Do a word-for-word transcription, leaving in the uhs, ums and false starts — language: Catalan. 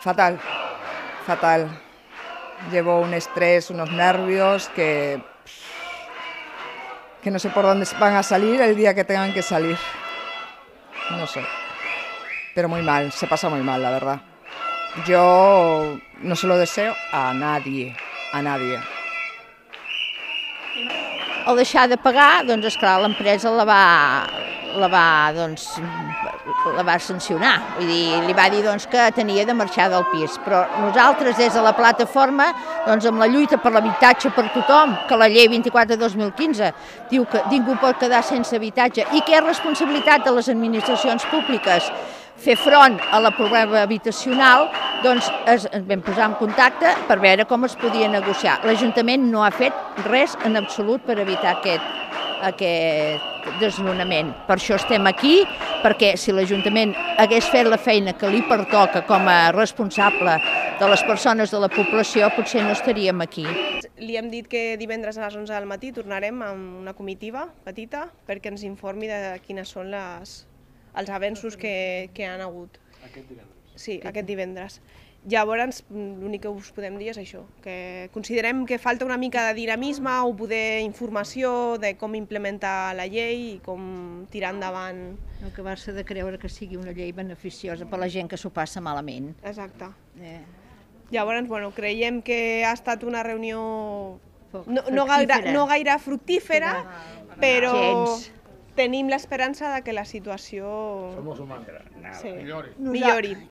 fatal, fatal. Llevo un estrés, unos nervios que, que no sé por dónde van a salir el día que tengan que salir. No sé, pero muy mal, se pasa muy mal, la verdad. Yo no se lo deseo a nadie, a nadie. Al deixar de pagar, doncs, esclar, l'empresa la va, la va, doncs, la va sancionar. Vull dir, li va dir doncs, que tenia de marxar del pis. Però nosaltres, des de la plataforma, doncs, amb la lluita per l'habitatge per tothom, que la llei vint-i-quatre dos mil quinze diu que ningú pot quedar sense habitatge i que és responsabilitat de les administracions públiques fer front a la problema habitacional, doncs es vam posar en contacte per veure com es podia negociar. L'Ajuntament no ha fet res en absolut per evitar aquest, aquest desnonament. Per això estem aquí, perquè si l'Ajuntament hagués fet la feina que li pertoca com a responsable de les persones de la població, potser no estaríem aquí. Li hem dit que divendres a les onze del matí tornarem amb una comitiva petita perquè ens informi de quines són les els avenços que, que han hagut. Aquest divendres? Sí, aquest divendres. Llavors, l'únic que us podem dir és això, que considerem que falta una mica de dinamisme o poder informació de com implementar la llei i com tirar endavant. No acabar-se de creure que sigui una llei beneficiosa per la gent que s'ho passa malament. Exacte. Eh. Llavors, bueno, creiem que ha estat una reunió no, no, gaire, no gaire fructífera, però Gens. tenim l'esperança de que la situació Somos humanos. sí, Millori. millori.